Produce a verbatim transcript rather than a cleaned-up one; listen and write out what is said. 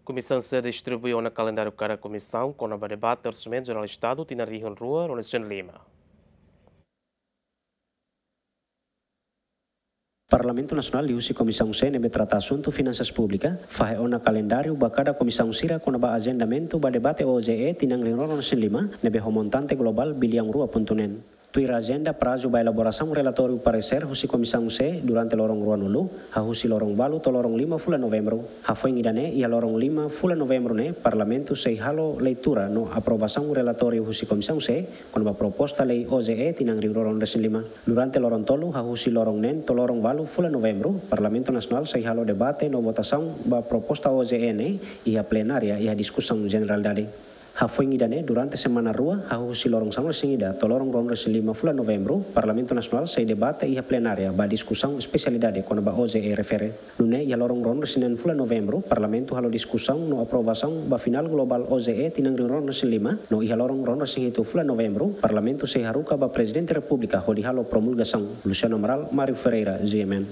Komisaun C distribui ona kalendáriu kada komisaun kona-ba debate Orsamentu Jerál Estadu tinan rihun rua ruanulu-resin-lima. Parlamentu Nasionál liuhusi Komisaun C ne'ebé trata asuntu finansas públika fahe ona kalendáriu ba kada komisaun sira kona-ba ajendamentu ba debate O J E tinan rihun rua ruanulu-resin-lima ne'ebé ho montante globál biliaun rua pontu neen. Tuir ajenda, prazu ba elaborasaun relatóriu paresér husi Komisaun C durante loron ruanulu, hahú husi loron ualu to'o loron lima fulan Novembru. Hafoin ida-ne'e iha loron lima fulan Novembru ne'e Parlamentu sei halo leitura no aprovasaun relatóriu husi Komisaun C kona-ba proposta lei O J E tinan rihun rua ruanulu-resin-lima. Durante loron tolu, hahú husi loron neen to'o loron ualu fulan Novembru, Parlamentu Nasionál sei halo debate no votasaun ba proposta O J E ne'e iha plenária iha diskusaun jeneralidade. Hafoin ida-ne'e, durante semana rua, hahú husi loron sanulu-resin-ida to'o loron ruanulu-resin-lima fulan Novembru, Parlamentu Nasionál sei debate iha plenária ba diskusaun espesialidade kona-ba O J E refere. Nune'e iha loron ruanulu-resin-neen fulan Novembru, Parlamentu halo diskusaun no aprovasaun ba final globál O J E tinan rihun rua ruanulu-resin-lima, no iha loron ruanulu-resin-hitu fulan Novembru, Parlamentu sei haruka ba Prezidente Repúblika hodi halo promulgasaun. Luciano Amaral, Mário Ferreira, G M N.